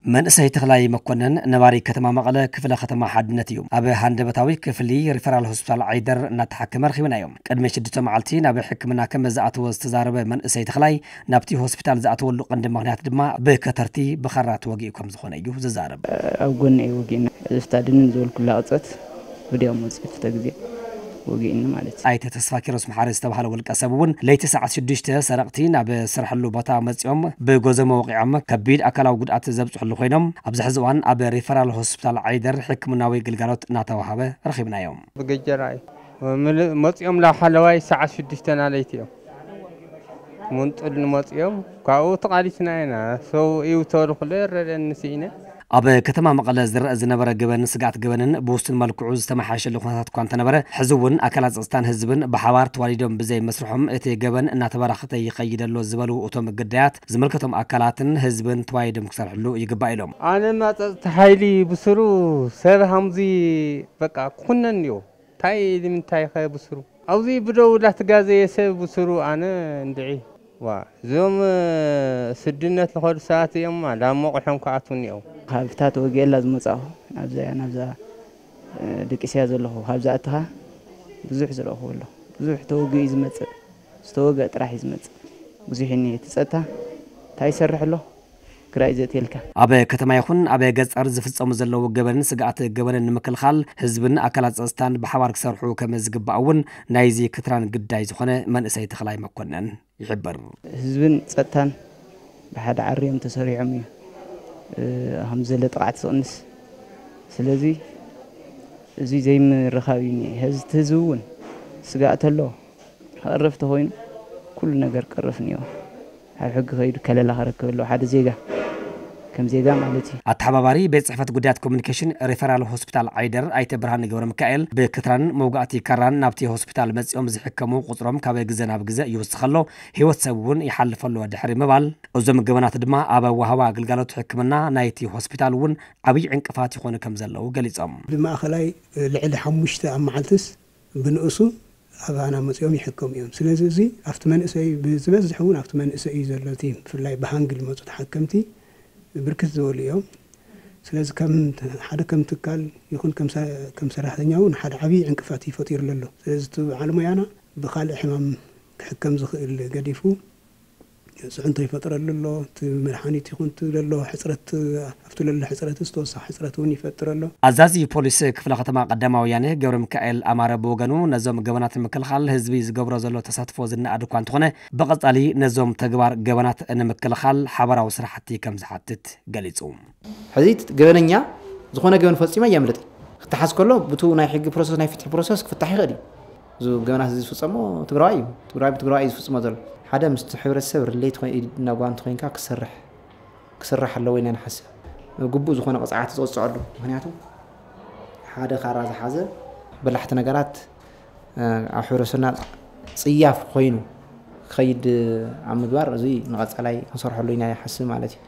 መንእሰይ ተኽላይ መኮነን ነባሪ ከተማ መቐለ ክፍለ ከተማ ሓድነት እዩ። ኣብ ሃንደበታዊ ክፍሊ ሪፈራል ሆስፒታል ዓይደር እናተሓከመ ረኺብናዮ። ቅድሚ ሽዱሽተ መዓልቲ ናብ ሕክምና ከም ዝኣተወ ዝተዛረበ መንእሰይ ተኽላይ፣ ናብቲ ሆስፒታል ዝኣተወሉ ቀንዲ ምኽንያት ድማ ብከተርቲ ብኻራ ተወጊኡ ከም ዝኾነ እዩ ዝዛረብ። ኣብ ጎኒ እዩ ወጊእና። ዝፍታ ድንን ዝበልኩላ ቅጸት ወዲያው መጽእ ክልተ ግዜ ወጊእኒ ማለት እዩ። ኣይተ ተስፋ ኪሮስ መሓሪ ዝተባሃለ ውልቀ ሰብ እውን ለይቲ ሰዓት ሽዱሽተ ሰረቕቲ ናብ ስርሕሉ ቦታ መጺኦም ብጎዘሞ ወቂዖም ከቢድ ኣካላዊ ጉድኣት ዘብጽሕሉ ኮይኖም፣ ኣብዚ ሕዚ እዋን ኣብ ሪፈራል ሆስፒታል ዓይደር ሕክምናዊ ግልጋሎት እናተዋሃበ ረኺብናዮም። ብገጀራ እዩ። ምል-፣ መጺኦም ላብ ሓለዋይ ሰዓት ሽዱሽተ ናለይቲ እዮም። ምንጡል ንመጺኦም ካብኡ ተቓሊስና ኢና። ሰው እዩ ተበሉ ኩሎ ይረደኒ ስኢነ። ኣብ ከተማ መቐለ ዝረአ ዝነበረ ገበን ስግኣት ገበንን ብውሱን መልክዑ ዝተመሓየሸሉ ኩነታት እኳ እንተነበረ፣ ሕዚ እውን ኣካላት ጸጥታን ህዝብን ብሓባር ተዋዲዶም ብዘይ መስርሖም እቲ ገበን እናተበራኸተ ይኸይድ ኣሎ ዝበሉ እቶም ግዳያት፣ ዝምልከቶም ኣካላትን ህዝብን ተዋዲዶም ክሰርሕሉ ይግባእ ኢሎም። ኣነማ ጸጥታ ሓይሊ ብስሩ ሰብ ሃምዚ በቃ ክኹነን እዩ። እንታይ ንምንታይ ከ ብስሩ? ኣብዚ ብደው ላትጋዘየ ሰብ ብስሩ ኣነ እንድዒ። ዋ፣ እዞም፣ እ፣ ስድነት ልኸዱ ሰባት እዮም፣ ላብ መቑሖም ክኣትዉ እኒአው። ካብታ ተወጊኤላ ዝመጻእኹ፣ ናብዛ እያ፣ ናብዛ፣ እ፣ ደቂሰያ ዘለኹ፣ ካብዛ ኣትኻ ብዙሕ ዝረእኹ ኣለኹ። ብዙሕ ተወጊኡ እዩ ዝመጽእ፣ ዝተወግአ ጥራሕ እዩ ዝመጽእ። ብዙሕ እኒአ፣ እቲ ጸጥታ እንታይ ይሰርሕ ኣሎ? ክራይ ዘትየልካ። ኣብ ከተማ ይኹን ኣብ ገጸር ዝፍጸሙ ዘለዉ ገበንን ስግኣት ገበንን ንምክልኻል ህዝብን ኣካላት ጸጥታን ብሓባር ክሰርሑ ከም ዝግባእ እውን ናይዚ ክትራን ግዳይ ዝኾነ መንእሰይ ተኽላይ መኮነን ይሕብር። ህዝብን ጸጥታን ብሓደ ዓርዮም ተሰሪዖም እዩ፣ እ፣ ከም ዘለ ጥቕዓት ዝቕንስ። ስለዚ እዚ ዘይምርኻብ እዩ እኒአ። ህዝ-፣ እቲ ህዝቢ እውን ስግኣት ኣሎ። ክቐርፍ ተኾይኑ ኩሉ ነገር ክቐርፍ እኒኦ። ኣብ ሕጊ ከይዱ ከለላ ክረክብ ኣለዎ ሓደ ዜጋ፣ ከም ዜጋ ማለት እዩ። ኣተሓባባሪ ቤት ጽሕፈት ጉዳያት ኮሚኒኬሽን ሪፈራል ሆስፒታል ዓይደር ኣይተ ብርሃነ ገብረ ሚካኤል፣ ብክትራንን መውጋእቲ ካራን ናብቲ ሆስፒታል መጺኦም ዝሕከሙ ቁጽሮም ካብ ግዘ ናብ ግዘ ይውስኽ ኣሎ፣ ህይወት ሰብ እውን ይሓልፍ ኣሎ ድሕሪ ምባል፣ እዞም ገበናት ድማ ኣብ ኣወሃህባ ኣገልጋሎት ሕክምና ናይቲ ሆስፒታል እውን ዓብዪ ዕንቅፋት ይኾኑ ከም ዘለዉ ገሊጾም። ብማእኸላይ ልዕሊ ሓሙሽተ ኣብ መዓልትስ ብንኡሱ ኣባና መጺኦም ይሕከሙ እዮም። ስለዚ እዚ ኣብቲ መንእሰይ፣ ብዝበዝሕ እውን ኣብቲ መንእሰይ እዩ ዘሎ። እቲ ብፍላይ ብሃንግ ዝመጹ ተሓከምቲ ብርክት ዝበሉ እዮም። ስለዚ ከም ሓደ ከም ትካል ይኹን ከም ሰ-፣ ከም ሰራሕተኛ እውን ሓደ ዓብዪ ዕንቅፋት እዩ ፈጢሩ ዘሎ። ስለዚ እቲ በዓል ሞያና ብኻልእ ሕማም ክሕከም ዝኽእል ገዲፉ ጽዕንቶ ይፈጥረሉ ኣሎ። እቲ መድሓኒት ይኹን እቲ ዘሎ ሕጽረት፣ ኣብቲ ዘሎ ሕጽረት ዝተወሰኸ ሕጽረት እውን ይፈጥር ኣሎ። ኣዛዚ ፖሊስ ክፍለ ከተማ ቀዳማዊ ወያነ ገብረ ሚካኤል ኣማረ ብወገኑ፣ ነዞም ገበናት ንምክልኻል ህዝቢ ዝገብሮ ዘሎ ተሳትፎ ዝነኣድ እኳ እንተኾነ፣ ብቐጻሊ ነዞም ተግባር ገበናት ንምክልኻል ሓባራዊ ስራሕቲ ከም ዝሓትት ገሊጹ። ሕዚ እቲ ገበነኛ ዝኾነ ገበን ፈጺመ የምልጥ። ክተሓዝ ከሎ ብቱ ናይ ሕጊ ፕሮሰስ፣ ናይ ፍትሒ ፕሮሰስ ክፍታሕ ይኽእል እዩ። እዚ ገበናት እዚ ዝፍጸሞ ትግራዋይ እዩ። ትግራዋይ ብትግራዋይ እዩ ዝፍጽሞ ዘሎ። ሓደ ምስቲ ሕብረተሰብ ሪሌት ኮይ-፣ ኢድና ጓንቲ ኮይንካ ክሰርሕ፣ ክስራሕ ኣለዎ ኢና ንሓስብ። ግቡእ ዝኾነ ቅጽዓት ዝቕጽዐሉ። ምኽንያቱ ሓደ ካራ ዝሓዘ በላሕቲ ነገራት፣ እ፣ ኣብ ሕብረተሰብና ጽያፍ ኮይኑ ክኸይድ ኣብ ምግባር፣ እዚ ንቐጻላይ ክንሰርሐሉ ኢና ይሓስብ ማለት እዩ።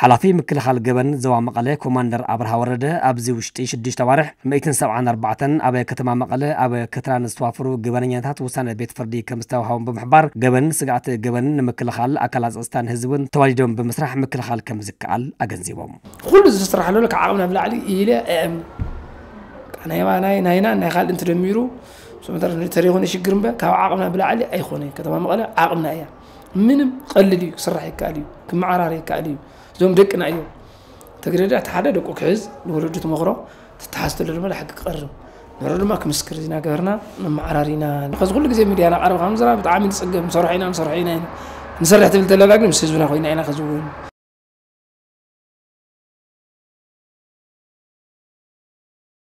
ሓላፊ ምክልኻል ገበን ዞባ መቐለ ኮማንደር ኣብርሃ ወረደ፣ ኣብዚ ውሽጢ ሽዱሽተ ኣዋርሕ ሚእትን ሰብዓን ኣርባዕተን ኣብ ከተማ መቐለ ኣብ ክትራን ዝተዋፈሩ ገበነኛታት ውሳነ ቤት ፍርዲ ከም ዝተዋህቦም ብምሕባር፣ ገበን ስግኣት ገበን ንምክልኻል ኣካላት ጸጥታን ህዝብን ተዋዲዶም ብምስራሕ ምክልኻል ከም ዝከኣል ኣገንዚቦም። ኩሉ ዝስራሕ ዘሎ ካብ ዓቕምና ብላዕሊ ኢለ ኣየኣምንን። ናይ፣ ናይ፣ ናይና ናይ ካልእ እንትደሚሩ፣ ተሪኹ ንሽግር እምበር ካብ ዓቕምና ብላዕሊ ኣይኮነን። ከተማ መቐለ ዓቕምና እያ። ምንም ቀልል እዩ፣ ክስራሕ ይከኣል እዩ፣ ክመዓራር ይከኣል እዩ። እዞም ደቅና እዮም። ተግደዳ እቲ ሓደ ደቁ ክሕዝ፣ ንወለዱ ትመኽሮ፣ ትተሓዝ ተሎ ድማ ንሓቂ ክቐርብ። ንሕሮ ድማ ክምስክር ኢና ገበርና፣ ንመዓራር ኢና። ከዚ ኩሉ ግዜ ሚድያ እናቐረብካ ምዝራብ ብጣዕሚ ንጽገም፣ ንሰርሖ ኢና፣ ንሰርሖ ኢና ኢና። ንሰርሕ ትብል ተለና ግን ምስ ህዝብና ኮይና ኢና ከዚ እውን